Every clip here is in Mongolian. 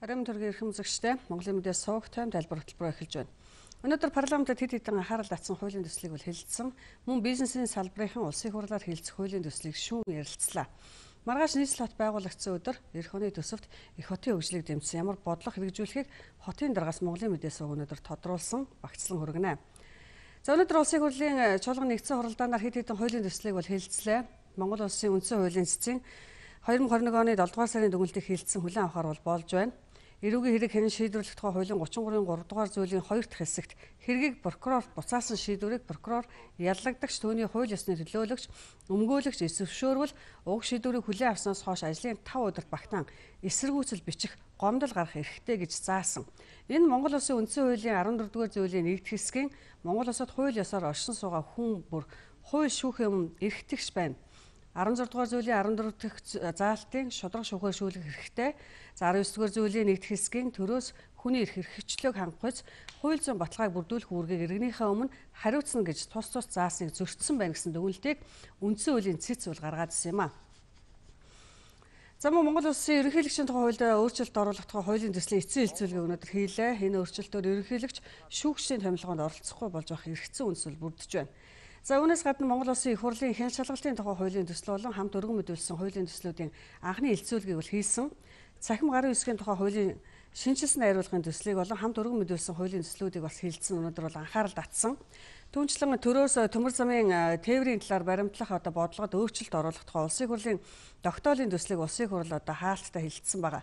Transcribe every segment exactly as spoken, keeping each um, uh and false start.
Харин төргийн эрхэм үзэгчтэй Монголын мэдээ суух тайм тайлбар хөтөлбөрөөр эхэлж байна. Өнөөдөр парламентд хэд хэдэн анхаарал татсан хуулийн төслийг бол хэлэлцсэн. Мөн бизнесийн салбарын улсын хурлаар хэлэлцэх хуулийн төслийг шүүн ярилцлаа. Маргааш нийслэл хот байгуулагдсан өдөр эх оны төсөвт их хотын хөгжлийг дэмжсэн ямар бодлого хэрэгжүүлэхийг хотын даргаас Монголын мэдээ сууг өнөөдөр тодруулсан багцлан хүргэнэ. За өнөөдөр улсын хурлын чуулган нэгдсэн хуралдаанаар хэд хэдэн хуулийн төслийг бол хэлэлцлээ. Монгол улсын үндсэн хуулийн цэцгийн хоёр мың хорин нэг оны долдугаар сарын дүгнэлтийг хэлэлцсэн хүлээн авахар бол болж байна. Эрүүгийн хэрэг хэн шийдвэрлэх тухай хуулийн гучин гурвын гурав дугаар зүйлийн хоёр дахь хэсэгт хэргийг прокурор буцаасан шийдвэрийг прокурор яллагдагч түүний хууль ёсны төлөөлөгч өмгөөлөгч эсвэршөөрвөл уг шийдвэрийг хүлээн авснаас хойш ажлын тав өдөрт багтаан эсэргүүцэл бичих гомдол гарах эрхтэй гэж заасан. Энэ Монгол Улсын үндсэн хуулийн арван дөрөвдүгээр зүйлийн нэгдүгээр хэсгийн Монгол Улсад хууль ёсоор оршин суугаа хүн бүр хууль шүүхийн өмнө эрхтэгч байна. арван зургаадугаар зүйлийн арван дөрөв дахь заалтын шударга шүүхээр шүүлэх хэрэгтэй. За арван есдүгээр зүйлийн нэгдүгээр хэсгийн төрөөс хүний эрх эрхчлөөг хангахуйц хууль зүйн баталгааг бүрдүүлэх үүргийг иргэнийхээ өмнө хариуцна гэж тус тус заасныг зөрчсөн байна гэсэн дүгнэлтийг үндсэн хуулийн цэц үл гаргаад ирсэн юм а. За мөн Монгол Улсын ерөнхийлөгчийн тухай хуульд өөрчлөлт оруулах тухай хуулийн төслийн эцсийн хэлцүүлгийг өнөөдөр хийлээ. Энэ өөрчлөлтөөр ерөнхийлөгч шүүгчдийн томилгоонд оролцохгүй болж байх эргэцсэн үндэслэл бүрдэж байна. За үүнээс гадна Монгол Улсын их хурлын хэн шалгалтын тухай хуулийн төсөл болон хамт өргөн мэдүүлсэн хуулийн төслүүдийн анхны хэлцүүлгийг бол хийсэн. Цахим гарын үсгийн тухай хуулийн шинжилсэн найруулгын төслийг болон хамт өргөн мэдүүлсэн хуулийн төслүүдийг бас хэлэлцсэн. Өнөөдөр бол анхаарал татсан. Түүнчлэн төрөөс төмөр замын тээврийн талаар баримтлах одоо бодлогод өөрчлөлт оруулах тухай улсын хурлын тогтоолын төслийг улсын хурл одоо хаалттай хэлэлцсэн байгаа.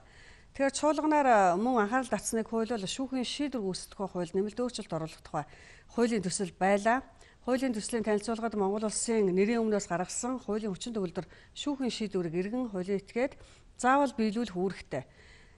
Тэгэхээр чуулганаар мөн анхаарал татсныг хууль бол шүүхийн шийдвэр үүсгэх хууль нэмэлт өөрчлөлт оруулах тухай хуулийн төсөл байлаа. Хуулийн төслийн танилцуулгад Монгол Улсын нэрийн өмнөөс гаргасан хуулийн хүчин төгөлдөр шүүхийн шийдвэрийг иргэн хуулийн этгээд заавал биелүүлэх үүрэгтэй.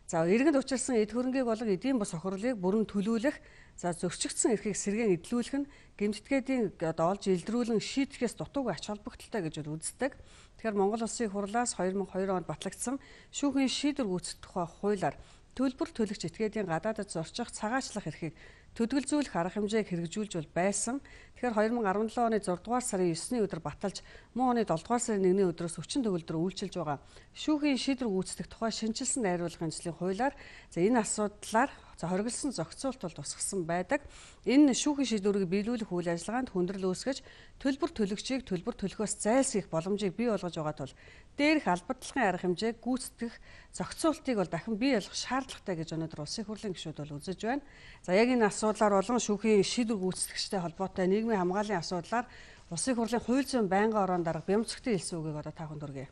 За иргэнд учирсан эд хөрөнгийг болон эдийн бус хохирлыг бүрэн төлүүлэх, за зөрчигдсөн эрхийг сэргээн эдлүүлэх нь гэмтдгээдийн одоо олж илдрүүлэн шийдэхээс дутуугүй ач холбогдолтой гэж үздэг. Тэгэхээр Монгол Улсын хурлаас хоёр мың хоёр онд батлагдсан шүүхийн шийдвэр гүйцэтгэх тухай хуулиар төлбөр төлөгч этгээдийн гадаадд зорчих, цагаачлах эрхийг төдөлзүүлэх арга хэмжээг хэрэгжүүлж бол байсан. Тэгэхээр хоёр мың арван долоо оны зургаадугаар сарын есний өдөр баталж, мөн оны долдугаар сарын нэгний өдрөөс хүчин төгөлдөр үйлчилж байгаа шүүхийн шийдвэр гүйцэтгэх тухай шинжилсэн найруулгын төслийн хуулиар за энэ асуудлаар за хоригдсон зохицуулт бол тусгасан байдаг. Энэ шүүхийн шийдвэрийг биелүүлэх үйл ажиллагаанд хүндрэл үүсгэж, төлбөр төлөгчийг төлбөр төлөхөөс зайлсхийх боломжийг бий болгож байгаа тул дээрх албадлагын арга хэмжээг гүйцэтгэх зохицуултыг бол дахин бий болгох шаардлагатай гэж өнөөдөр улсын хурлын гишүүд бол үзэж байна. За яг энэ асуудлаар болон шүүхийн шийдвэр гүйцэтгэгчтэй холбоотой нийгмийн хамгааллын асуудлаар улсын хурлын хууль зүйн байнгын орон дарга Бямцгтын хэлсэн үгийг одоо та бүхэнд хүргэе.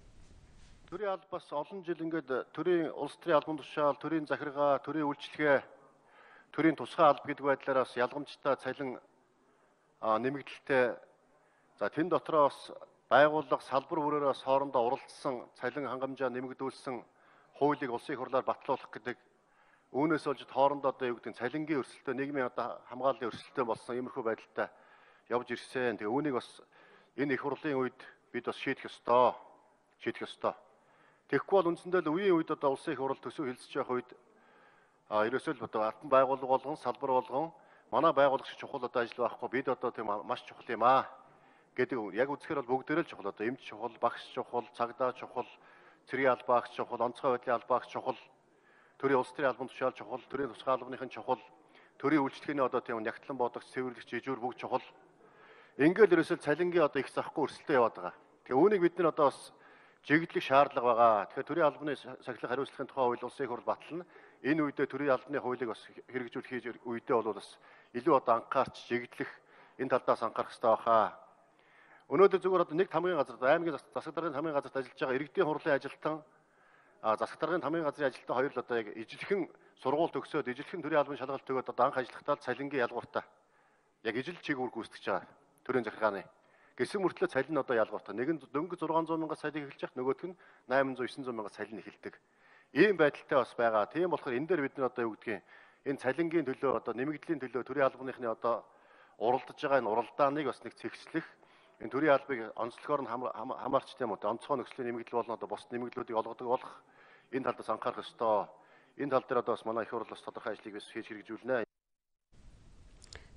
Төрийн алба бас олон жил ингээд төрийн улс төрийн албан тушаал, төрийн захиргаа, төрийн үйлчлэгээ, төрийн тусгай алба гэдэг байдлаар бас ялгамжтай цалин нэмэгдэлтэй. За тэн дотроо бас байгууллага салбар бүрээр бас хоорондоо уралдсан цалин хангамжаа нэмэгдүүлсэн хуулийг улсын хурлаар батлуулах гэдэг. Үүнээс болж хоорондоо одоо юу гэдэг цалингийн өрсөлдөөн, нийгмийн одоо хамгааллын өрсөлдөөн болсон иймэрхүү байдалтай явж ирсэн. Тэгээ үүнийг бас энэ их хурлын үед бид бас шийдэх ёстой. Шийдэх ёстой. Тэгэхгүй бол үндсэндээ л үеийн үед одоо улсын их хурл төсөв хэлэлцэж явах үед а ерөөсөө л одоо алтан байгууллага болгон, салбар болгон манай байгууллага шиг чухал одоо ажил байхгүй. Бид одоо тийм маш чухал юм аа гэдэг яг үзэхээр бол бүгдээрээ л чухал. Одоо эмч чухал, багш чухал, цагдаа чухал, цэргийн албаагч чухал, онцгой байдлын албаагч чухал, төрийн улс төрийн албан тушаал чухал, төрийн тусгай албаныхын чухал, төрийн үйлчлэгээний одоо тийм нягтлан бодогч, цэвэрлэгч, ижүүр бүгд чухал. Ингээл ерөөсөө цалингийн одоо их захгүй өрсөлдөөн яваад байгаа. Тэгээ үүнийг бид нар одоо бас жигдлэх шаардлага байгаа. Тэгэхээр төрийн албаны сахилга хариуцлагын тухай хууль улсын хурл батлна. Энэ үедээ төрийн албаны хуулийг бас хэрэгжүүлэх үедээ бол бас илүү одоо анхаарч жигдлэх энэ талдаас анхаарах хэрэгтэй баха. Өнөөдөр зүгээр одоо нэг тамгын газар, аймгийн засаг даргын тамгын газарт ажиллаж байгаа иргэдийн хурлын ажилтан, засаг даргын тамгын газрын ажилтан хоёр л одоо яг ижилхэн сургууль төгсөөд ижилхэн төрийн албаны шалгалт өгөөд одоо анх ажиллахдаа цалингийн ялгууртай. Яг ижил чиг үүрэг гүйцэтгэж байгаа төрийн захиргааны. Гэсэн мөртлөө цалин одоо ялгууртай. Нэг нь дөнгөж зургаан зуун мянган цалин эхэлж явах, нөгөөх нь найман зуун девсан зуун мянган цалин эхэлдэг. Ийм байдалтай бас байгаа. Тийм болохоор энэ дээр бид нар одоо юу гэдгийг энэ цалингийн төлөө одоо нэмэгдлийн төлөө төрийн албаныхны одоо уралдаж байгаа энэ уралдааныг бас нэг цэгцлэх, энэ төрийн албыг онцлогоор нь хамаарч тийм үү онцгой нөхцөлийн нэмэгдэл болно одоо бос нэмэгдлүүдийг олгодог болох энэ талдаас анхаарах ёстой. Энэ тал дээр одоо бас манай их хурл бас тодорхой ажлыг бас хийж хэрэгжүүлнэ.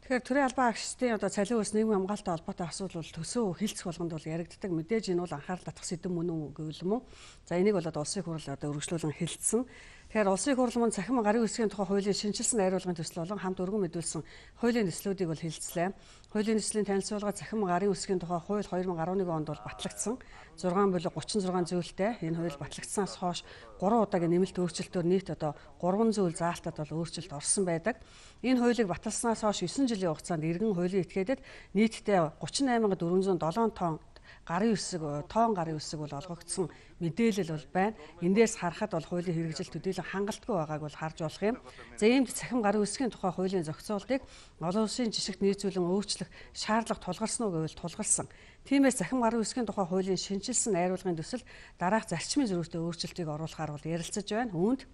Тэгэхээр төрийн албан агчдын одоо цалин ус нийгмийн хамгаалалттай холбоотой асуудал бол төсөө хэлцэх болгонд бол яригддаг. Мэдээж энэ бол анхаарал татах сэдэв мөн үү гэвэл юм уу. За энийг бол улсын хурл одоо өргөжлүүлэн хэлэлцсэн. Тэгэхээр улсын их хурлын цахим гарын үсгийн тухай хуулийн шинжилсэн найруулгын төсөл болон хамт өргөн мэдүүлсэн хуулийн төслүүдийг бол хэлэлцлээ. Хуулийн төслийн танилцуулга цахим гарын үсгийн тухай хууль хоёр мың арван нэг онд бол батлагдсан. зургаан болон гучин зургаан зүйлтэй энэ хууль батлагдсанаас хойш гурван удаагийн нэмэлт өөрчлөлтөөр нийт одоо гурван зүйл заалтад бол өөрчлөлт орсон байдаг. Энэ хуулийг баталснаас хойш есөн жилийн хугацаанд иргэн хуулийн этгээдэд нийтдээ гучин айман дөрвөн зуун долоон тонн гарын үсэг тоон гарын үсэг бол олгогдсон мэдээлэл бол байна. Эндээс харахад бол хуулийн хэрэгжил төдийлөн хангалтгүй байгааг бол харж болох юм. За иймд цахим гарын үсгийн тухай хуулийн зохицуултыг олон улсын жишгт нийцүүлэн өөрчлөх шаардлага тулгарсан уу гэвэл тулгарсан. Тиймээс цахим гарын үсгийн тухай хуулийн шинжилсэн найруулгын төсөл дараах зарчмын зөрүүтэй өөрчлөлтийг оруулахаар бол ярилцаж байна. Үүнд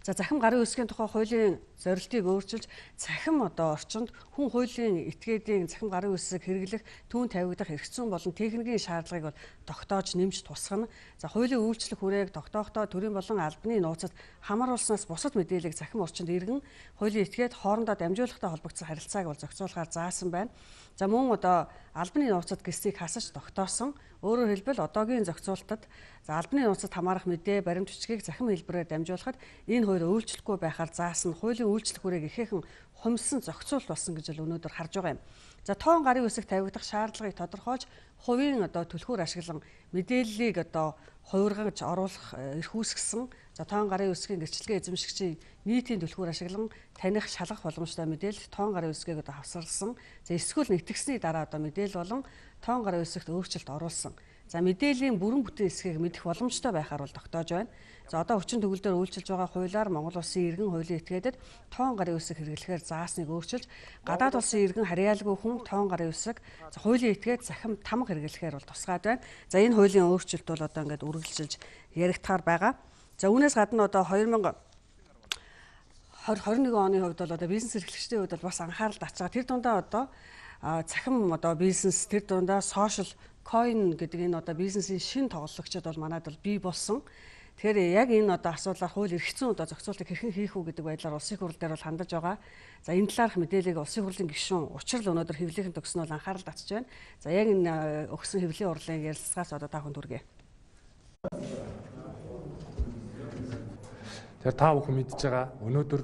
За захим гарын үсгийн тухай хуулийн зорилтыг өөрчилж цахим одоо орчинд хүн хуулийн этгээдийн захим гарын үсэг хэрэглэх түүн тавигдах эрх зүйн болон техникийн шаардлагыг бол тогтоож нэмж тусгана. За хуулийн үйлчлэх хүрээг тогтоохдоо төрийн болон албаны нууцад хамааруулснаас бусад мэдээллийг захим орчинд иргэн хуулийн этгээд хоорондоо дамжуулахтай холбогдсон харилцааг бол зохицуулахаар заасан байна. За мөн одоо албаны нууцад гэсийг хасаж тогтоосон. Өөрөөр хэлбэл одоогийн зохицуултад за албаны нууцад хамаарах мэдээ баримт бичгийг захим хэлбэрээр дамжуулахад энэ хоёр үйлчлэхгүй байхаар заасан хуулийн үйлчлэх хүрээг ихээхэн хумсан зохицуулт болсон гэж өнөөдөр харж байгаа юм. За тоон гарын үсэг тавигдах шаардлагыг тодорхойлж хувийн одоо түлхүүр ашиглан мэдээллийг одоо хувиргаж оруулах эрх үүсгэсэн. За тоон гарын үсгийн гэрчлэгээ эзэмшигчийн нийтийн түлхүүр ашиглан таних шалгах боломжтой мэдээлэл тоон гарын үсгийг одоо хавсарласан. За эсвэл нэгтгэсний дараа одоо мэдээлэл болон тоон гарын үсэгт өөрчлөлт оруулсан. За мэдээллийн бүрэн бүтэн хэсгийг мэдэх боломжтой байхаар бол тогтоож байна. За одоо хүчин төгөлдөр үйлчилж байгаа хуулиар Монгол улсын иргэн хуулийн этгээдэд тоон гарын үсэг хэрэглэхээр заасныг өөрчилж гадаад улсын иргэн харьяалгүй хүн тоон гарын үсэг хуулийн этгээд захим тамга хэрэглэхээр бол тусгаад байна. За энэ хуулийн өөрчлөлт бол одоо ингээд үргэлжилж яригдахаар байгаа. За үүнээс гадна одоо хоёр мың хорин нэг оны хувьд бол одоо бизнес эрхлэгчдийн хувьд бол бас анхаарал татж байгаа. Тэр дундаа одоо захим одоо бизнес тэр дундаа сошиал coin гэдэг энэ одоо бизнесийн шин тоглогчид бол манайд бол бий болсон. Тэгэхээр яг энэ одоо асуудлаар хууль эрх зүйн одоо зохицуултыг хэрхэн хийх үү гэдэг байдлаар улсын хурл дээр бол хандаж байгаа. За энэ талаарх мэдээллийг улсын хурлын гишүүн учрал өнөөдөр хэвлэлийн төгснө бол анхаарал татж байна. За яг энэ өгсөн хэвлэлийн урлагийн ярилцлагаас одоо та бүхэнд хүргэе. Тэгэхээр та бүхэн мэдж байгаа өнөөдөр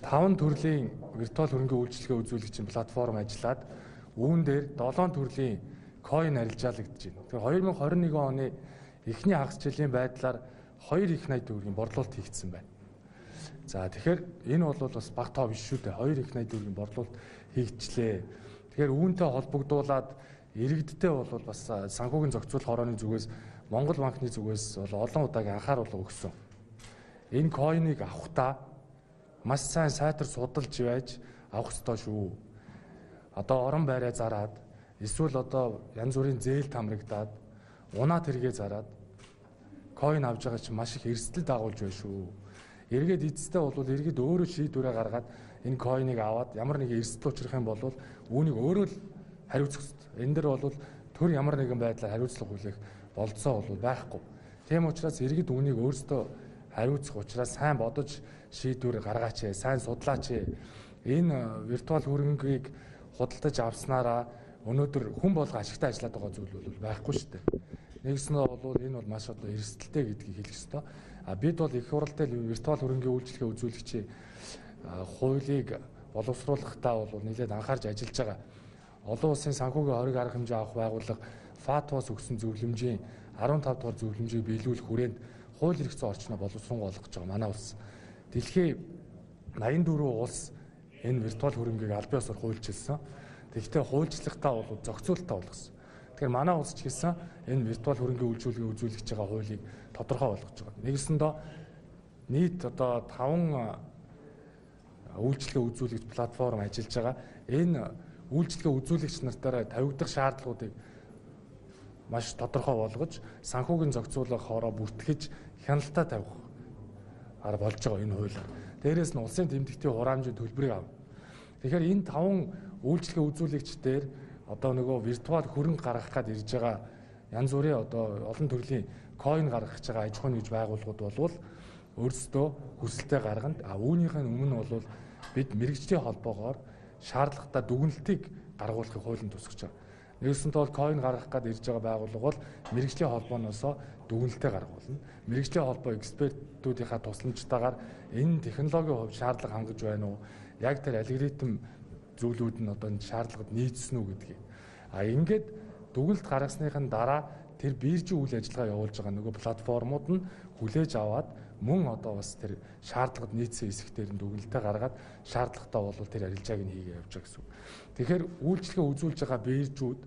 таван төрлийн виртуал хөрөнгөний үйлчилгээ үзүүлэгчийн платформ ажиллаад үүн дээр долоон төрлийн coin арилжаалагдж байна. Тэгэхээр хоёр мың хорин нэг оны эхний хагас жилийн байдлаар хоёр их найд төгрөгийн борлуулалт хийгдсэн байна. За тэгэхээр энэ бол бас бага тоо биш шүү дээ. хоёр их найд төгрөгийн борлуулалт хийгдчихлээ. Тэгэхээр үүнтэй холбогдуулаад иргэдтэй бол бас санхүүгийн зохицуулах хорооны зүгээс Монгол банкны зүгээс бол олон удаагийн анхааруулга өгсөн. Энэ coin-ыг авахдаа маш сайн сайтар судалж байж авах ёстой шүү. Одоо орон байраа зараад эсвэл одоо янз бүрийн зээл тамрагдаад унаад хэрэгээ зараад coin авж байгаа чинь маш их эрсдэл дагуулж байна шүү. Эргээд эцэстээ бол иргэд өөрөө шийдвэрээ гаргаад энэ coin-ыг аваад ямар нэгэн эрсдэл учрах юм бол үүнийг өөрөө л хариуцах ёстой. Энэ дэр бол төр ямар нэгэн байдлаар хариуцлага хүлээх болцоо бол байхгүй. Тийм учраас иргэд үүнийг өөрсдөө хариуцах учраас сайн бодож шийдвэр гаргаач, сайн судлаач. Энэ виртуал хөрөнгийг худалдаж авснараа өнөөдөр хүн болго ашигтай ажиллаад байгаа зүйл бол байхгүй шүү дээ. Нэгснээ бол энэ бол маш одоо эрсдэлтэй гэдгийг хэлэх ёстой. А бид бол их хурлтай виртуал хөрөнгийн үйлчлэгээ үзүүлэгчийн хуулийг боловсруулахдаа бол нэлээд анхаарч ажиллаж байгаа. Олон улсын санхүүгийн хориг арга хэмжээ авах байгууллага ФАТО-с өгсөн зөвлөмжийн арван тав дугаар зөвлөмжийг биелүүлэх хүрээнд хууль эрх зүйн орчноо боловсруулах гэж байгаа манай улс. Дэлхийн найман дөрвөн улс энэ виртуал хөрөнгийг аль биесээр хуульчилсан. Тэгэхдээ хуульчлахтаа бол зохицуултаа болгосон. Тэгэхээр манай улс ч гэсэн энэ виртуал хөрөнгийн үйлчилгээ үзүүлж байгаа хуулийг тодорхой болгож байгаа. Нэгсэндээ нийт одоо таван үйлчилгээ үзүүлэгч платформ ажиллаж байгаа. Энэ үйлчилгээ үзүүлэгч нартаараа тавигдах шаардлагуудыг маш тодорхой болгож санхүүгийн зохицуулах хоороо бүртгэж хяналтаа тавих арга болж байгаа энэ хуулиар. Дээрээс нь улсын тэмдэгтийн хураамжийн төлбөрийг авна. Тэгэхээр энэ таван үйлчилгээ үзүүлэгчдээр одоо нөгөө виртуал хөрөнгө гаргах гээд ирж байгаа янз бүрийн одоо олон төрлийн coin гаргах гэж байгаа аж ахуйн нэгж байгууллагууд болвол өөрсдөө хүсэлтээ гаргана. А үүнийхэн өмнө бол бид мэрэгжлийн холбоогоор шаардлагатай дүгнэлтийг гаргуулахыг хуулийн тусгаж байгаа. Нэгсэнтэй бол coin гаргах гээд ирж байгаа байгууллага бол мэрэгжлийн холбооноос дүгнэлтээ гаргуулна. Мэргэжлийн холбоо экспертүүдийнхаа тусламжтайгаар энэ технологийн хувьд шаардлага хангаж байна уу? Яг тэр алгоритм зүйлүүд нь одоо шаардлагад нийцсэн үү гэдгийг. А ингээд дүгнэлт гаргасныхын дараа тэр биржийн үйл ажиллагаа явуулж байгаа нөгөө платформуд нь хүлээж аваад мөн одоо бас тэр шаардлагад нийцсэн хэсэгтэр нь дүгнэлтээ гаргаад шаардлагатай бол тэр арилжааг нь хийгээ явж байгаа гэсэн. Тэгэхээр үйлчлэгээ үзүүлж байгаа биржүүд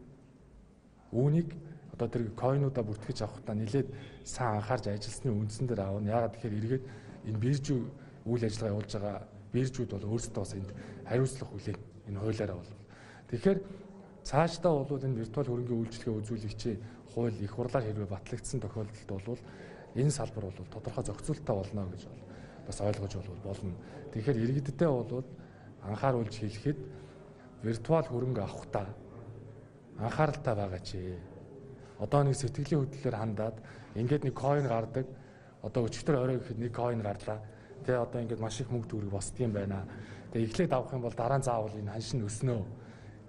үүнийг одоо тэр койнуудаа бүртгэж авахтаа нэлээд сайн анхаарч ажилласны үндсэн дээр аавна. Яагаад тэгэхээр эргээд энэ биржийн үйл ажиллагаа явуулж байгаа биржүүд бол өөрсдөө бас энд хариуцлага хүлээн энэ хуулиараа бол. Тэгэхээр цаашдаа бол энэ виртуал хөрөнгөний үйлчлэгээ үзүүлэгчийн хууль их хурлаар хэрвээ батлагдсан тохиолдолд бол энэ салбар бол тодорхой зохицуулттай болно гэж бас ойлгож болно. Тэгэхээр иргэддээ бол анхааруулж хэлэхэд виртуал хөрөнгө авахдаа анхааралтай байгаа чи. Одоо нэг сэтгэлийн хөдлөлөөр хандаад ингээд нэг койн гардаг. Одоо өчигдөр орой гэхэд нэг койн гарлаа. Тэгээ одоо ингээд маш их мөнгө төгрөг босдгийм байна. Тэгээ эхлээд авах юм бол дараа нь заавал энэ ханшин өснөө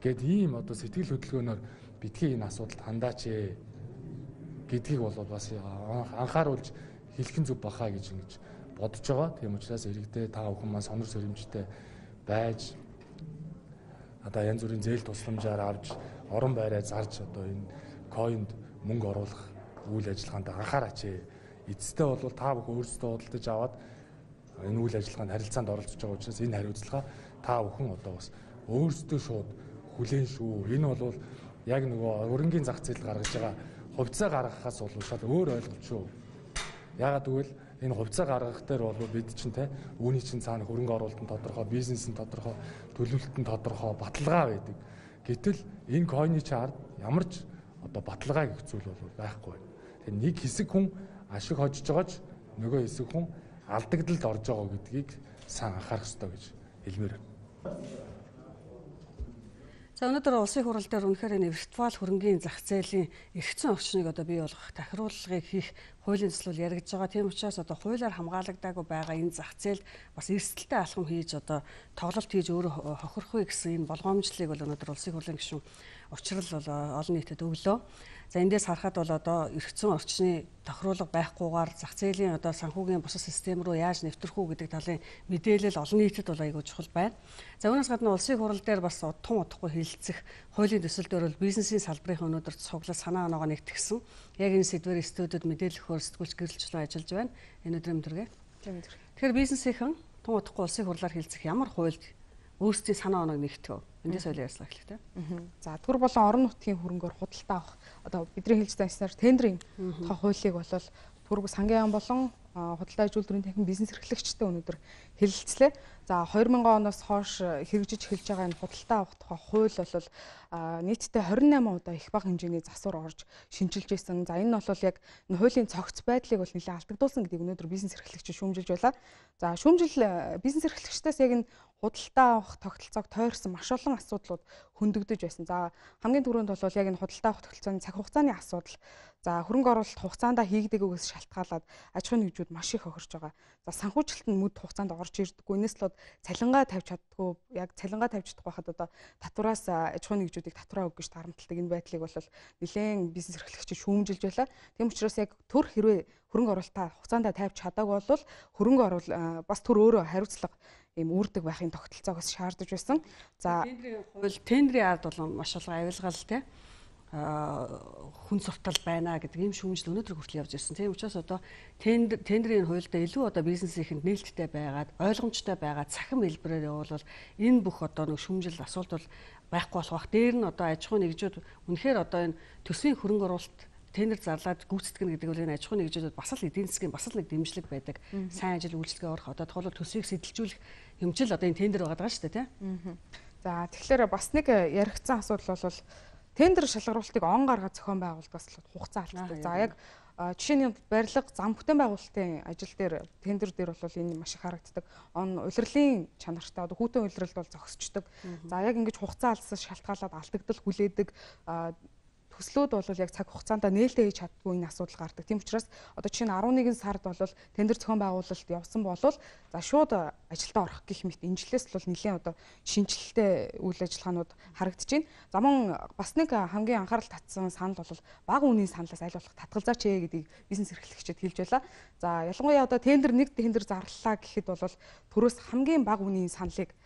гэд ийм одоо сэтгэл хөдлөлгөөнөөр битгий энэ асуудалд хандаач ээ гэдгийг бол бас анхааруулж хэлхэн зүг бахаа гэж ингэж бодож байгаа. Тийм учраас иргэдээ та бүхэн маань сонор сөрөмжтэй байж одоо янз бүрийн зээл тусламжаар авч орон байраа зарж одоо энэ койнд мөнгө оруулах үйл ажиллагаанд анхаараач ээ. Эцэстээ бол та бүхэн өөрсдөө худалдаж аваад энэ үйл ажиллагаанд харилцаанд оролцож байгаа учраас энэ хариуцлага та бүхэн одоо бас өөрсдөө шууд хүлээн шүү. Энэ бол яг нөгөө өрнгийн зах зээл гаргаж байгаа хувьцаа гаргахаас бол шал өөр ойлголт шүү. Яагаад гэвэл энэ хувьцаа гаргах дээр бол бид чинь те үүний чинь цаана хөрөнгө оруулалтын тодорхой, бизнесийн тодорхой, төлөвлөлтөнд тодорхой баталгаа байдаг. Гэтэл энэ койны чарт ямар ч одоо баталгаа гэх зүйл бол байхгүй байна. Тэгэхээр нэг хэсэг хүн ашиг хожиж байгааж нөгөө хэсэг хүн алдагдалд орж байгаа гэдгийг сайн анхаарах ёстой гэж хэлмээр байна. За өнөөдөр улсын хурал дээр үнэхээр энэ виртуал хөрөнгөний зах зээлийн эргэцэн орчныг одоо бий болгох тахируулгыг хийх хуулийн төслөл яригдж байгаа. Тийм учраас одоо хуулиар хамгаалагдаагүй байгаа энэ зах зээлд бас эрсдэлтэй алхам хийж одоо тоглолт хийж өөрөө хохирохыг гэсэн энэ болгоомжлыг бол өнөөдөр улсын хурлын гишүүн учрал бол олон нийтэд өглөө. За эндээс харахад бол одоо эргэцэн орчны тохируулга байхгүйгээр зах зээлийн одоо санхүүгийн бусад систем рүү яаж нэвтрэх үү гэдэг талын мэдээлэл олон нийтэд бол айгүй чухал байна. За үүнээс гадна улсын хурал дээр бас удахгүй удахгүй хэлэлцэх хуулийн төсөлдөр бол бизнесийн салбарын өнөөдөр цуглал санаа оноогоо нэгтгэсэн. Яг энэ сэдвээр студиуд мэдээлэл өгөхөөр сэтгүүлч гэрэлжлэн ажиллаж байна. Энэ өдрийн мэдрэг. Тэгэхээр бизнесийнхэн тун удахгүй улсын хурлаар хэлцэх ямар хуульд өөрсдийн санаа оноог нэгтгэв. Эндээс соёлын ярьцлага эхлэв. За төр болон орон нутгийн хөрөнгөөр худалдаа авах одоо бидний хэлж байснаар тендерийн тоо хуулийг бол түрэг сангийн ам болон худалдаа ажилтны техник бизнес эрхлэгчтэй өнөөдөр хэлэлцлээ. За хоёр мянган оноос хойш хэрэгжиж эхэлж байгаа энэ худалдаа авах тухай хууль бол нийтдээ хорин найман удаа их бага хэмжээний засвар орж шинжилж байсан. За энэ нь бол яг энэ хуулийн цогц байдлыг бол нэлээд алдагдуулсан гэдгийг өнөөдөр бизнес эрхлэгч шүүмжилж байлаа. За шүүмжил бизнес эрхлэгчдээс яг энэ худалдаа авах тогтолцоог тойрсон маш олон асуудлууд хөндөгдөж байсан. За хамгийн түрүүнд бол яг энэ худалдаа авах тогтолцооны цаг хугацааны асуудал. За хөрөнгө оруулалт хугацаанд хийгдэггүйгээс шалтгаалаад аж ахуйн нэгжүүд маш их охирж байгаа. За санхүүжилт нь мөд хугацаанд орж ирдэггүй. Энэс л цалингаа тавьж чаддгүй. Яг цалингаа тавьж чадахгүй хахад одоо татвараас аж ахуйн нэгжүүдийг татвараа өгөх гэж тарамталдаг энэ байдлыг бол нэлээд бизнес эрхлэгч шүүмжилж байлаа. Тийм учраас яг төр хэрвээ хөрөнгө оруулалтаа хугацаанд тавьж чадаагүй бол хөрөнгө оруул бас төр өөрөө хариуцлага ийм үрдэг байхын тогтолцоогоос шаардаж байсан. За тендерийн хууль тендерийн ард бол маш олон авилгаал те хүн суртал байна гэдэг ийм шүүмжил өнөөдөр хүртэл явж ирсэн. Тийм учраас одоо тендерийн хуульдаа илүү одоо бизнесийнхэнд нээлттэй байгаад ойлгомжтой байгаа цахим хэлбэрээр явуулвал энэ бүх одоо нэг шүүмжил асуулт бол байхгүй болох бах. Дээр нь одоо аж ахуйн нэгжүүд үнэхээр одоо энэ төсвийн хөрөнгө оруулалт тендер зарлаад гүйцэтгэх гэдэг нь аж ахуйн нэгжүүдэд бас л эдийн засгийн бас л нэг дэмжлэг байдаг. Сайн ажил үйлчлэгээ орох одоо тухайн төсвийг сэтэлжүүлэх юмчил одоо энэ тендер байгаа шүү дээ тийм. За тэгэхээр бас нэг яригдсан асуудал бол тендер шалгаруулалтыг он гаргаад зохион байгуулалтаас л хугацаа алддаг. За яг жишээний барилга зам бүтээн байгуулалтын ажил дээр тендер дээр бол энэ маш их харагддаг. Он улирлын чанартай одоо хүүтэн улиралд бол зогсчдөг. За яг ингэж хугацаа алдсаас шалтгаалаад алдагдал хүлээдэг төслүүд бол яг цаг хугацаанд нээлттэй хийж чаддгүй энэ асуудал гардаг. Тийм учраас одоо жишээ нь арван нэгэн сард бол тендер зохион байгуулалт явсан бол за шууд ажилдаа орох гэх мэт энэ жилээс бол нэлээд одоо шинжилэлтэй үйл ажиллагаанууд харагдаж байна. За мөн бас нэг хамгийн анхаарал татсан санал бол бага үнийн саналаас аль болох татгалзаач ээ гэдгийг бизнес эрхлэгчид хэлж байлаа. За ялангуяа одоо тендер нэг тендер зарлалаа гэхэд бол төрөөс хамгийн бага үнийн саналыг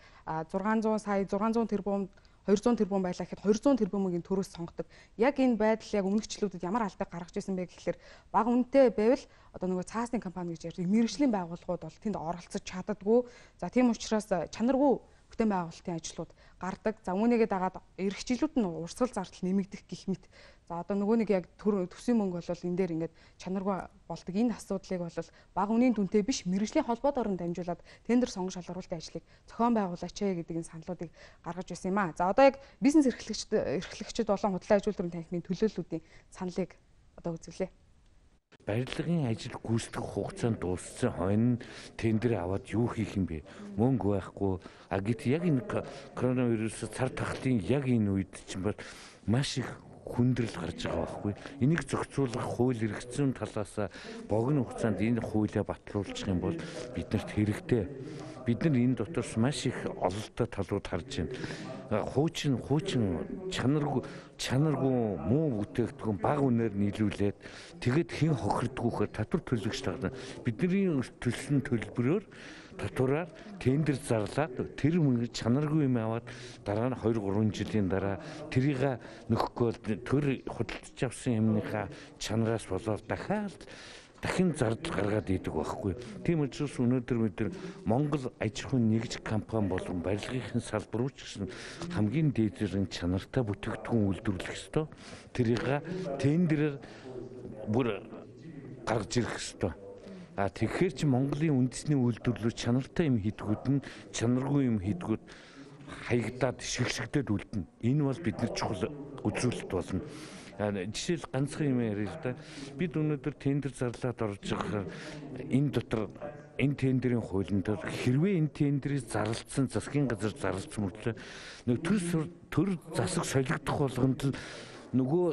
зургаан зуун сая зургаан зуун тэрбум хоёр зуун тэрбум байлаа гэхэд хоёр зуун тэрбумын төрөөс сонгодог. Яг энэ байдал яг өмнөгчлүүдэд ямар алдаг гаргаж ирсэн бэ гэхэлэр бага үнэтэй байвал одоо нөгөө цаасны компани гэж ярьдаг мэргэжлийн байгууллагууд бол тэнд оролцож чаддаггүй. За тийм учраас чанаргүй бүтээн байгуулалтын ажлууд гардаг. За үүнийгээ дагаад эх жилүүд нь урсгал зардал нэмэгдэх гэх мэт. За одоо нөгөө нэг яг төсвийн мөнгө бол энэ дээр ингээд чанаргүй болдог. Энэ асуудлыг бол бага үнийн дүнтэй биш мэргэжлийн холбоот орон дамжуулаад тендер сонгон шалгаруулалтын ажлыг зохион байгуулаач ээ гэдэг энэ саналуудыг гаргаж ирсэн юм аа. За одоо яг бизнес эрхлэгчид эрхлэгчид болон худлаа ажилтны танхимын төлөөллүүдийн саналыг одоо үзүүлээ. Барилгын ажил гүйцэтгэх хугацаанд дууссан хойно тендер аваад юу хийх юм бэ? Мөнгө байхгүй. А гэт яг энэ коронавирус цар тахлын яг энэ үед чинь бол маш их хүндрэл гарч байгаа байхгүй. Энийг зохицуулах хууль эрх зүйн талаас богино хугацаанд энэ хуулиа батлуулчих юм бол биднэрт хэрэгтэй. Бид нар энэ дотроос маш их ололтой талууд харж байна. Хуучин хуучин чанаргүй чанаргүй муу бүтээгдэхүүн бага үнээр нийлүүлээд тэгэд хэн хохирдгүйхээр татвар төлөгч тагна. Бидний төлсөн төлбөрөөр татвараар тендер зарлаад тэр мөнгө чанаргүй юм аваад дараа нь хоёр гурван жилийн дараа тэрийг нөхөхгүй төр худалдаж авсан юмныхаа чанараас болоод дахиад дахин зардал гаргаад идэг байхгүй. Тийм учраас өнөөдөр бид нар Монгол аж ахуйн нэгж компани болон барилгын салбар руу ч гэсэн хамгийн дээдэрэн чанартай бүтээгдэхүүн үйлдвэрлэх ёстой. Тэрийг тендерээр бүр гаргаж ирэх ёстой. А тэгэхээр чи Монголын үндэсний үйлдвэрлэлүүд чанартай юм хийдгүүд нь чанаргүй юм хийдгүүд хаягдаад шигшигдээд үлдэнэ. Энэ бол бидний чухал үзүүлэлт болно. Жишээл ганцхан юм ярил л да. Бид өнөөдөр тендер зарлаад орж байгаа энэ дотор энэ тендерийн хуулинд хэрвээ энэ тендерийг зарлалцсан засгийн газар зарлалцсан мөртлөө нэг төр төр засаг солигдох болгонд л нөгөө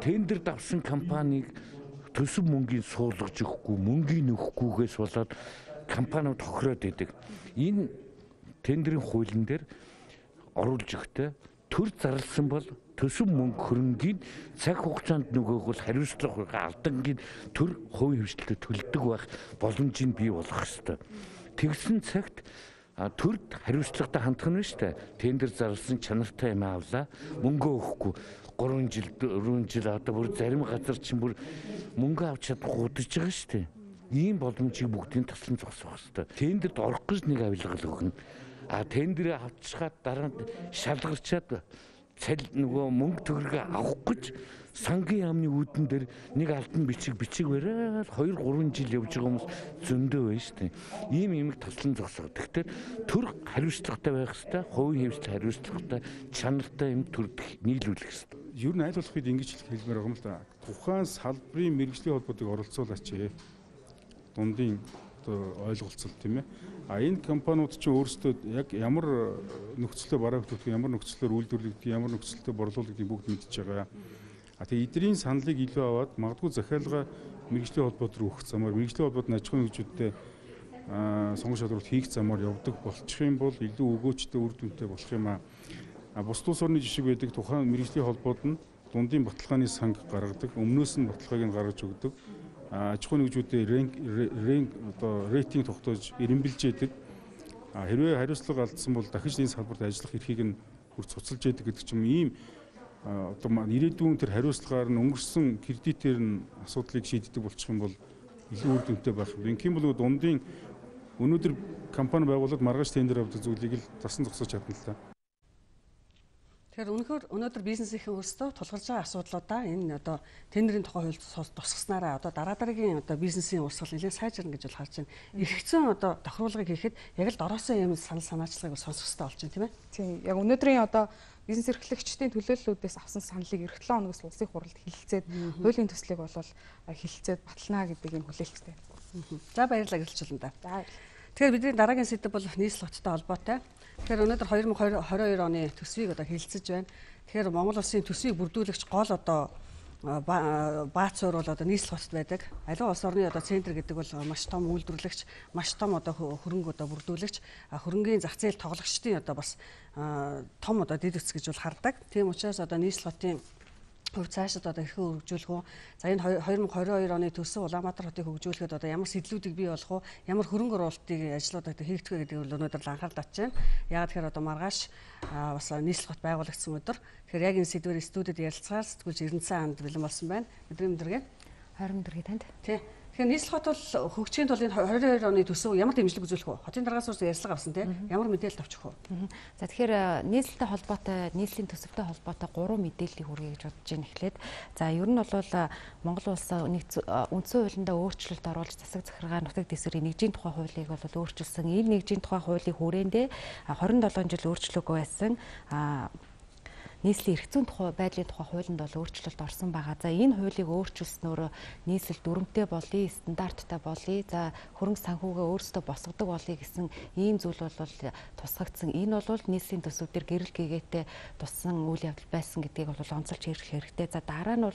тендерд авсан компанийг төсөв мөнгөний суулгаж өгөхгүй, мөнгөний өгөхгүйгээс болоод компаниуд хохироод идэг. Энэ тендерийн хуулийн дээр оруулж өгтөө төр зарласан бол төсөв мөнгө хөрөнгийн цаг хугацаанд нөгөөг бол хариуцлага алдангийн төр хувийн хвшилтэд төлдөг байх боломжийг бий болгох ёстой. Тэгсэн цагт төрд хариуцлагатай хандах нь шүү дээ. Тендер зарласан чанартай юм авлаа, мөнгө өгөхгүй гурван жил дөрвөн жил одоо бүр зарим газар чинь бүр мөнгө авч чадахгүй удаж байгаа шүү дээ. Ийм боломжийг бүгдийг таслан зогсоох ёстой. Тендерд орох гэж нэг авилгал өгнө. А тендерээ авчгаад дараа нь шалгарчаад цал нөгөө мөнгө төгрөг авах гэж сангийн яамны үүдэн дээр нэг алтан бичиг бичиг бариад хоёр гурван жил явж байгаа хүмүүс зөндөө байна шүү дээ. Ийм юмыг таслан зогсоо. Тэгэхээр төр хариуцлагатай байх хэрэгтэй, хувийн хвшил хариуцлагатай, чанартай юм төрд нийлүүлэх хэрэгтэй. Ер нь айл болохыг ингэж хэлмээр байгаа юм л да. Тухайн салбарын мэргэжлийн холбоотыг оролцуулаач ээ. Дундын одоо ойлголцол тийм ээ. А энэ компаниуд чинь өөрсдөө яг ямар нөхцөлөөр бараагддаг, ямар нөхцөлөөр үйлдвэрлэгдэх, ямар нөхцөлөөр борлуулагдгийг бүгд мэдж байгаа. А тэгээ эдгэрийн саналыг илүү аваад магадгүй захиалга мэргэжлийн холбоот руу өгөх замаар, мэргэжлийн холбоот аж ахуйн нэгжүүдтэй сонгон шалралт хийх замаар явдаг болчих юм бол илүү өгөөчтэй үр дүнтэй болох юм аа. А бус улс орны жишг байдаг тухайн мэргэжлийн холбоот нь дундын баталгааны санг гаргадаг, өмнөөс нь баталгааг нь гаргаж өгдөг. Аж ахуйн нэгжүүдээ рэнк одоо рейтинг тогтоож эренбилжээдэг. Хэрвээ хариуцлага алдсан бол дахиж энэ салбарт ажиллах эрхийг нь хүрт цуцалж яадаг гэдэг ч юм ийм одоо ирээдүйн тэр хариуцлагаар нь өнгөрсөн кредитээр нь асуудлыг шийддэг болчих юм бол илүү үр дүнтэй байх юм. Инх юм бол дундын өнөөдөр компани байгуулад маргааш тендер авдаг зүйлийг л тасан зогсоож чадна л та. Тэгэхээр өнөхөр өнөөдөр бизнесийн өөрсдөө тулгарч байгаа асуудлуудаа энэ одоо тендерийн тухай хууль тусгаснараа одоо дараа дараагийн одоо бизнесийн урсгал нэлээд сайжирна гэж бол харж байна. Эргэцэн одоо тохируулгыг хийхэд яг л дороосон юм санал санаачлагыг сонсох хэрэгтэй болж байна тийм ээ. Тийм. Яг өнөөдрийн одоо бизнес эрхлэгчдийн төлөөллүүдээс авсан саналыг эх долоо хоногоос улсын хурлд хэлэлцээд хуулийн төслийг бол хэлэлцээд батална гэдэг юм хүлээлттэй. За баярлалаа гэрэлж болно да. За Тэгэхээр бидний дараагийн сэдэв бол нийслэл хоттой холбоотой. Тэгэхээр өнөөдөр две тысячи двадцать two оны төсвийг одоо хэлэлцэж байна. Тэгэхээр Монгол улсын төсвийг бүрдүүлэгч гол одоо баацуур бол одоо нийслэл хотод байдаг. Аливаа улс орны одоо центр гэдэг бол маш том үйлдвэрлэгч, маш том одоо хөрөнгө одоо бүрдүүлэгч, хөрөнгийн зах зээл тоглогчдын одоо бас том одоо дэд үтс гэж бол хардаг. Тийм учраас одоо нийслэл хотын хувь цаашид одоо хэрхэн хөгжүүлэх вэ? За энэ две тысячи двадцать two оны төсөв Улаанбаатар хотыг хөгжүүлэхэд одоо ямар сэтлүүдийг бий болох вэ? Ямар хөрөнгө оруулалтыг ажлуудад хийгдэх вэ гэдэг бол өнөөдөр анхаарал татж байна. Яагаад тэгэхээр одоо маргааш бас нийслэл хот байгуулагдсан өдөр. Тэгэхээр яг энэ сэдвээр студид ярилцгаар сэтгүүлч Эрдэнэсэн хаанд бэлэн болсон байна. Өдрийн мэндэргээ. Харин өдрийн танд. Тий. Тэгэхээр нийслэл хот бол хөгжихийн тулд энэ две тысячи двадцать two оны төсөв ямар дэмжлэг үзүүлэх вэ? Хотын дараагаас урьсан ярьцлага авсан тий. Ямар мэдээлэл авчих вэ? За тэгэхээр нийслэлтэй холбоотой, нийслэлийн төсөвтэй холбоотой гурван мэдээллийг хүргэе гэж бодож байна эхлээд. За ер нь бол Монгол улс үндсэн хуулиндаа өөрчлөлт оруулж засаг захиргаа нутаг дэвсгэрийн нэгжийн тухай хуулийг бол өөрчилсөн. Энэ нэгжийн тухай хуулийн хүрээндээ twenty-seven жил өөрчлөлтгүй байсан. Нийслэлийн эрх зүйн тухай байдлын тухай хуулинд бол өөрчлөлт орсон байгаа. За энэ хуулийг өөрчилснөөр нийслэл дүрмтэй болъё, стандарттай болъё. За хөрөнгө санхүүгээ өөрсдөө босгодог болъё гэсэн ийм зүйл бол тусгагдсан. Энэ бол нийслэлийн төсөв дээр гэрэл гээгээтэй туссан үйл явдал байсан гэдгийг бол онцолж хэлэх хэрэгтэй. За дараа нь бол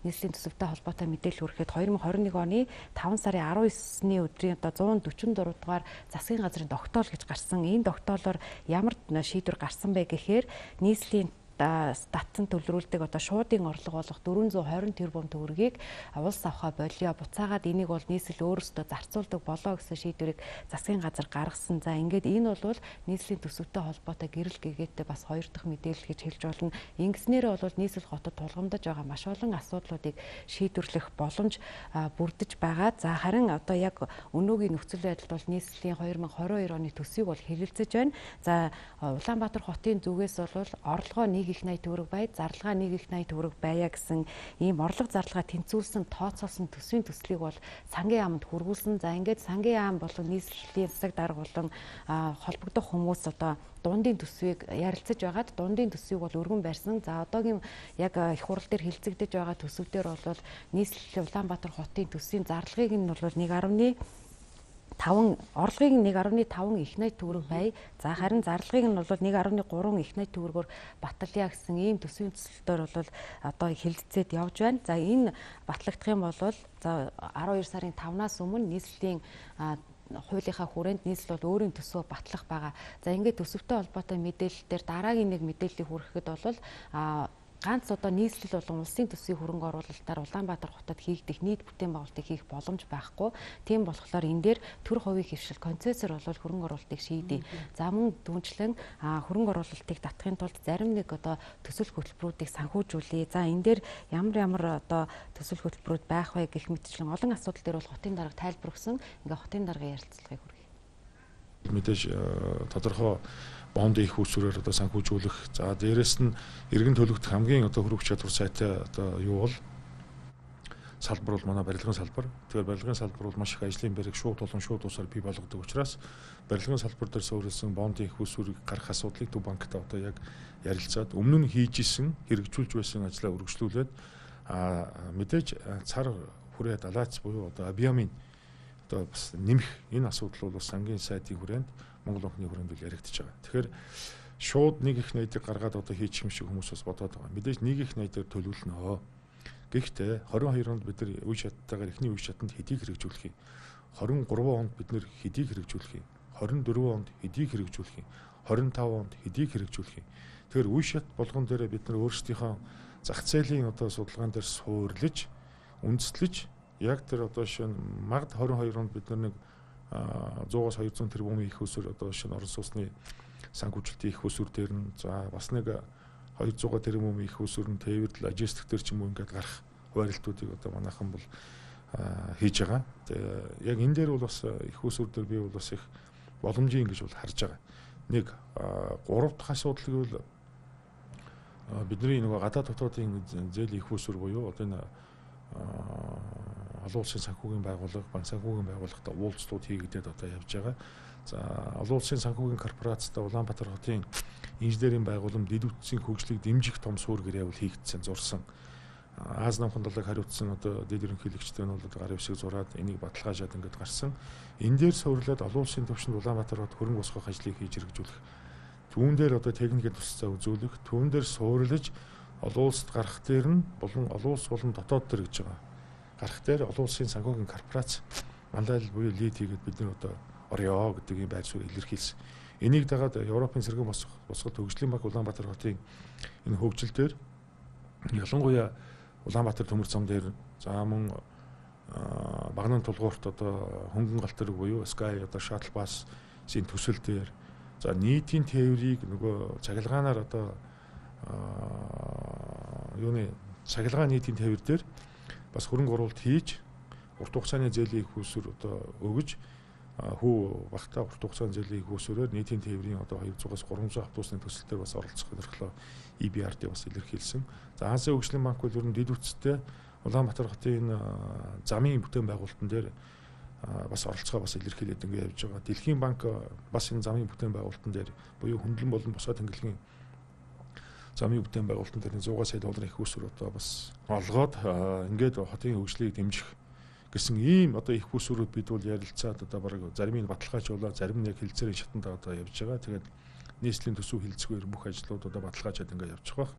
нийслэлийн төсөвтэй холбоотой мэдээлэл хүрэхэд twenty twenty-one оны five сарын nineteen-ны өдрийн одоо one forty-four дугаар засгийн газрын тогтоол гэж гарсан. Энэ тогтоолоор ямар шийдвэр гарсан бэ гэхээр нийслэлийн статсан төлрүүлдэг одоо шуудын орлого болох four hundred twenty тэрбум төгрөгийг улс авахаа болио. Буцаагаад энийг бол нийслэл өөрөөсөө зарцуулдаг болоо гэсэн шийдвэрийг засгийн газар гаргасан. За ингээд энэ бол нийслэлийн төсөвтэй холбоотой гэрэл гээгээтэй бас хоёр дахь мэдээлэл гэж хэлж болно. Ингэснээр бол нийслэл хотод тулгамдаж байгаа маш олон асуудлуудыг шийдвэрлэх боломж бүрдэж байгаа. За харин одоо яг өнөөгийн нөхцөл байдалд бол нийслэлийн twenty twenty-two оны төсвийг бол хэлэлцэж байна. За Улаанбаатар хотын зүгээс бол орлогоо нэг их найд төгрөг бай, зарлагаа нэг их найд төгрөг байя гэсэн ийм орлого зарлагаа тэнцвүүлсэн тооцоолсон төсвийн төслийг бол сангийн яамд хүргүүлсэн. За ингээд сангийн яам болон нийслэлийн засаг дарга болон холбогдох хүмүүс одоо дундын төсвийг ярилцаж байгаад дундын төсвийг бол өргөн барьсан. За одоогийн яг их хурал дээр хилцэгдэж байгаа төсөв дээр бол нийслэлийн Улаанбаатар хотын төсвийн зарлагыг нь бол one point five орлогыг one point five их найд төгрөг бай. За харин зарлагыг нь бол one point three их найд төгрөгөөр батлая гэсэн ийм төсвийн төсөлтөөр бол одоо хэлэлцээд явж байна. За энэ батлагдах юм бол за twelve сарын five-наас өмнө нийслэлийн хуулийнхаа хүрээнд нийслэл бол өөрийн төсвөө батлах байгаа. За ингээд төсөвтэй холбоотой мэдээлэл дээр дараагийн нэг мэдээллийг хүрэхэд бол ганц одоо нийслэл болон улсын төсвийн хөрөнгө оруулалтаар Улаанбаатар хотод хийгдэх нийт бүтээн байгуулалтыг хийх боломж байхгүй. Тийм болохоор энэ дээр төр хувийн хэвшил концессор бол хөрөнгө оруулалтыг шийдэе. За мөн дүүнчлэн хөрөнгө оруулалтыг татахын тулд зарим нэг одоо төсөл хөтөлбөрүүдийг санхүүжүүлье. За энэ дээр ямар ямар одоо төсөл хөтөлбөрүүд байх вэ гэх мэтчлэн олон асуудал дээр бол хотын дарга тайлбар өгсөн. Ингээ хотын даргын ярилцлагыг хүргэе. Мэдээж тодорхой бонд их усүрээр одоо санхүүжүүлэх. За дээрэс нь иргэн төлөгдөх хамгийн одоо хөрвөх чадвар сайтай одоо юу бол салбар бол манай барилгын салбар. Тэгэхээр барилгын салбар бол маш их ажлын байрыг шууд болон шууд усаар бий болгодог учраас барилгын салбар дээр суурилсан бондын их усүрийг гарах асуудлыг Төв банктай одоо яг ярилцаад өмнө нь хийж исэн хэрэгжүүлж байсан ажлаа үргэлжлүүлээд а мэдээж цар хүрээ далайц буюу одоо Абиамын одоо бас нэмэх энэ асуудал бол бас сангийн сайдын хүрээнд Монгол банкны хүрээнд бол яригдчихэж байгаа. Тэгэхээр шууд нэг их найдыг гаргаад одоо хийчих юм шиг хүмүүс бас бодоод байгаа. Мэдээж нэг их найдаар төлөвлөнө. Гэхдээ twenty-two онд бид нар үе шаттайгаар эхний үе шатанд хэдийг хэрэгжүүлэх юм. twenty-three онд бид нар хэдийг хэрэгжүүлэх юм. twenty-four онд хэдийг хэрэгжүүлэх юм. twenty-five онд хэдийг хэрэгжүүлэх юм. Тэгэхээр үе шат болгон дээр бид нар өөрсдийнхөө зах зээлийн одоо судалгаан дээр суурлаж, үндэслэж яг тэр одоо шинэ магад twenty-two онд бид нар нэг one hundred-аас two hundred тэрбум их усүр одоо шинэ орон сууцны санхүүжилтийн их усүр дээр нь за бас нэг two hundred тэрбум их усүр нь тээвэрлэл логистик дээр ч юм уу ингээд гарах хуваарлтуудыг одоо манайхан бол хийж байгаа. Тэгээ яг энэ дээр бол бас их усүр дээр би бол бас их боломжийн гэж бол харж байгаа. Нэг гурав дахь асуудал гэвэл бидний нөгөө гадаад дотоодын зээлийн их усүр буюу одоо энэ олон улсын санхүүгийн байгууллага, банк санхүүгийн байгууллагатай уулзлууд хийгдээд одоо явж байгаа. За олон улсын санхүүгийн корпорацтай Улаанбаатар хотын инженерийн байгууллам дэд үтсийн хөгжлийг дэмжих том суурь гэрээ бол хийгдсэн, зурсан. Аз намхан далайг хариуцсан одоо дэд ерөнхийлөгчтэй нь бол гарын хэвшиг зураад энийг баталгаажаад ингээд гарсан. Энэ дээр суурлаад олон улсын түвшинд Улаанбаатар хот хөрөнгө босгох ажлыг хийж хэрэгжүүлэх. Түүн дээр одоо техникийн туслалцаа үзүүлэх, түүн дээр суурлаж олон улсад гарах дээр нь болон олон улс болон дотоод төр гэж байгаа. Гарах дээр олон улсын санхүүгийн корпорац мандал буюу лид хийгээд бид нар одоо орё гэдэг юм байр суурь илэрхийлсэн. Энийг дагаад Европын сэргэн босгох босгох хөгжлийн банк Улаанбаатар хотын энэ хөгжил дээр ялангуяа Улаанбаатар төмөр зам дээр за мөн багнан тулгуурт одоо хөнгөн галт тэрэг буюу Sky одоо shuttle bus-ийн төсөл дээр за нийтийн тээврийг нөгөө цахилгаанаар одоо юуны цахилгаан нийтийн тээвэр дээр бас хөрөнгө оруулалт хийж урт хугацааны зээлийн хөөсөр одоо өгөж хүү багтаа урт хугацааны зээлийн хөөсөрөөр нийтийн тээврийн одоо двухсад гурамсад автобусны төсөл дээр бас оролцох зорилгоо и би ар-д бас илэрхийлсэн. За Азийн хөгжлийн банк бол ер нь дэд үсттэй Улаанбаатар хотын замын бүтээн байгуулалтан дээр бас оролцоо бас илэрхийлээд ингэ явж байгаа. Дэлхийн банк бас энэ замын бүтээн байгуулалтан дээр буюу хөндлөн болон босоо тэнглэгийн замын бүтээн байгуулалтан дээр сто сая долларын их усүр одоо бас олгоод ингээд хотын хөгжлийг дэмжих гэсэн ийм одоо их усүрүүд бид бол ярилцаад одоо бараг зарим нь баталгаажуулаад зарим нь яг хилцээрийн шатанд одоо явж байгаа. Тэгээд нийслэлийн төсөв хилцгээр бүх ажлууд одоо баталгаажаад ингээд явж байгаа.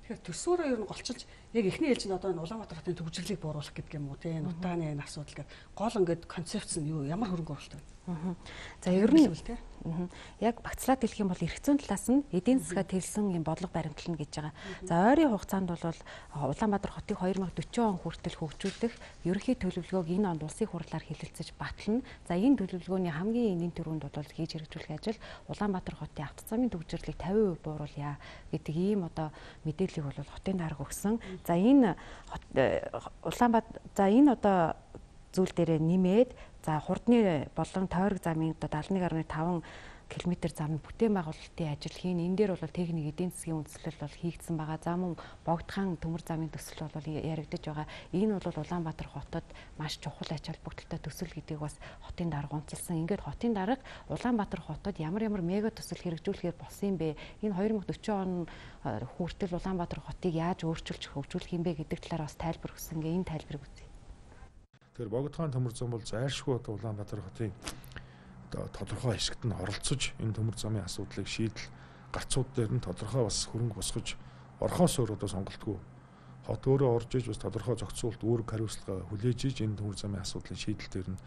Тэгэхээр төсвөрөө ер нь голчилж яг эхний ээлжинд одоо энэ Улаанбаатар хотын төвжирлийг бууруулах гэдэг юм уу те нутааны энэ асуудал гэдэг гол ингээд концепц нь юу ямар хөрөнгө оруулалт вэ? За ер нь яг багцлаад хэлэх юм бол эрх зүйн талаас нь эдийн засгаа тэлсэн юм бодлого баримтлана гэж байгаа. За ойрын хугацаанд бол Улаанбаатар хотыг две тысячи forty он хүртэл хөгжүүлэх ерөнхий төлөвлөгөөг энэ онд улсын хурлаар хэлэлцэж батлана. За энэ төлөвлөгөөний хамгийн энгийн төрөнд бол хийж хэрэгжүүлэх ажил Улаанбаатар хотын авто замын төвжирлийг fifty percent бууруулъя гэдэг ийм одоо мэдээллийг бол хотын дарга өгсөн. За энэ Улаанбаатар за энэ одоо зүйл дээрээ нэмээд за хурдны болон тойрог замын одоо seventy-one point five км замын бүтээн байгуулалтын ажил хийн. Энэ дээр бол техник эдийн засгийн үндэслэл бол хийгдсэн байгаа. За мөн богдхан төмөр замын төсөл бол яригдж байгаа. Энэ бол Улаанбаатар хотод маш чухал ач холбогдолтой төсөл гэдгийг бас хотын дарга онцлсан. Ингээд хотын дарга Улаанбаатар хотод ямар ямар мега төсөл хэрэгжүүлэхээр болсон юм бэ? Энэ twenty forty он хүртэл Улаанбаатар хотыг яаж өөрчилж хөгжүүлэх юм бэ гэдэг талаар бас тайлбар өгсөн. Ингээ энэ тайлбарыг үзье. Тэгэхээр богдхан төмөр зам бол зайлшгүй одоо Улаанбаатар хотын тодорхой хэсэгт нь оролцож энэ төмөр замын асуудлыг шийдэл гарцууд дээр нь тодорхой бас хөрөнгө босгож орхоос өөр одоо сонголтгүй хот өөрөө орж иж бас тодорхой зохицуулт үүрэг хариуцлага хүлээж иж энэ төмөр замын асуудлын шийдэл дээр нь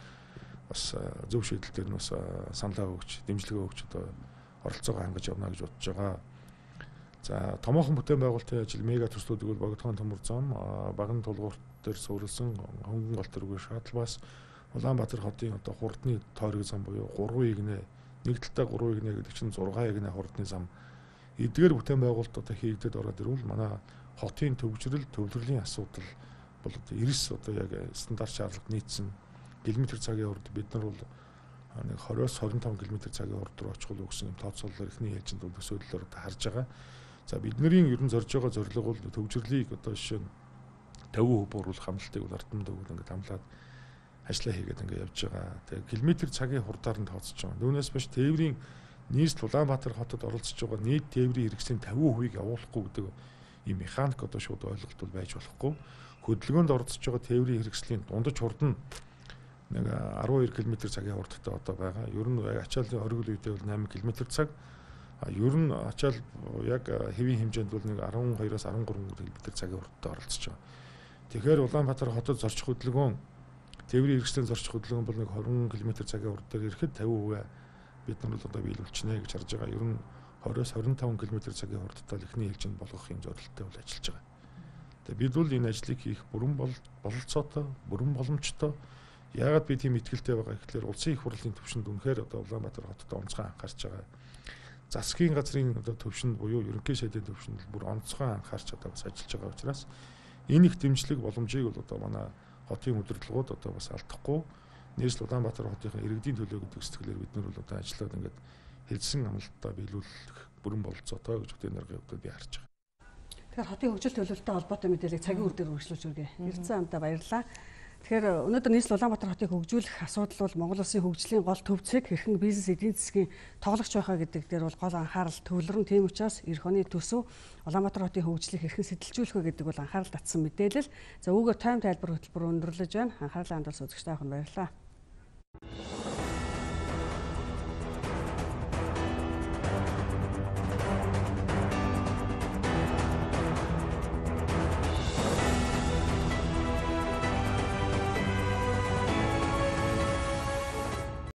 бас зөв шийдэл дээр нь бас саналаа өгч дэмжлэгээ өгч одоо оролцоогоо хангаж явна гэж бодож байгаа. За томоохон бүтээн байгуулалтын ажил мега төслүүдийг бол богдхон төмөр зам баган тулгуурт дээр суурилсан хөнгөн гол төрөг шатл бас Улаанбаатар хотын одоо хурдны тойрог зам буюу three игнэ нэг талдаа three игнэ гэдэг чинь six игнэ хурдны зам эдгээр бүтээн байгуулалт одоо хийгдээд ороод ирвэл манай хотын төвчрөл төвлөрлийн асуудал бол одоо ninety одоо яг стандарт шаардлага нийцсэн км цагийн урд бид нар бол нэг twenty-с twenty-five км цагийн урд руу очих өгсөн юм тооцоололоор ихний ээлжинд бол төсөөллөөр одоо харж байгаа. За бидний ерөн зорж байгаа зорилго бол төвчрлийг одоо жишээ нь fifty percent бууруулах хамлалтыг бол ардам дөгөл ингээд хамлаад ажиллаа хийгээд ингээд явж байгаа. Тэгээ километр цагийн хурдаар нь тооцож байгаа. Түүнээс биш тээврийн нийслэл Улаанбаатар хотод оролцож байгаа нийт тээврийн хэрэгслийн fifty percent-ийг явуулахгүй гэдэг ийм механик одоо шууд ойлголт бол байж болохгүй. Хөдөлгөөнд оролцож байгаа тээврийн хэрэгслийн дундаж хурд нь нэг twelve км цагийн хурдтай одоо байгаа. Ер нь ачааллын оргил үедээ бол eight км цаг. А ер нь ачаал яг хэвийн хэмжээнд бол нэг twelve-оос thirteen км цагийн хурдтай оролцож байгаа. Тэгэхээр Улаанбаатар хотод зорчих хөдөлгөөн тээврийн хэрэгслийн зорчих хөдөлгөөн бол нэг twenty км цагийн хурдаар ирэхэд fifty percent бид нар бол одоо биелүүлчихнэ гэж харж байгаа. Ер нь twenty-оос twenty-five км цагийн хурдтай л ихний хэлжинд болгох юм зорилттой бол ажиллаж байгаа. Тэгээ бид бол энэ ажлыг хийх бүрэн бололцоотой, бүрэн боломжтой. Яагаад би тийм итгэлтэй байгаа гэхээр улсын их хурлын төвшөнд үнэхээр одоо Улаанбаатар хотод онцгой анхаарч байгаа. Засгийн газрын одоо төвшөнд буюу ерөнхий сайдын төвшөнд бүр онцгой анхаарч одоо бас ажиллаж байгаа учраас энэ их дэмжлэг боломжийг бол одоо манай хотын удирдлагууд одоо бас алдахгүй нийслэл Улаанбаатар хотын иргэдийн төлөө гэдэг сэтгэлээр бид нар бол одоо ажиллаад ингээд хэлсэн амлалтаа биелүүлэх бүрэн бололцоотой гэж хөтөн даргын хувьд би харж байгаа. Тэгэхээр хотын хөгжил төлөвлөлтөй холбоотой мэдээллийг цагийн үр дээр үргэлжлүүлж өгье. Ирсэн амтаа баярлалаа. Тэгэхээр өнөөдөр нийслэл Улаанбаатар хотыг хөгжүүлэх асуудал бол Монгол улсын хөгжлийн гол төв зүйг хэрхэн бизнес эдийн засгийн тоглогч байхаа гэдэг дээр бол гол анхаарал төвлөрөн. Тийм учраас эх оны төсөв Улаанбаатар хотын хөгжлийг хэрхэн сэтэлжүүлэх вэ гэдэг бол анхаарал татсан мэдээлэл. За үүгээр тайм тайлбар хөтөлбөр өндөрлөж байна. Анхаарлаа хандуулсан үзэгчдээ баярлалаа.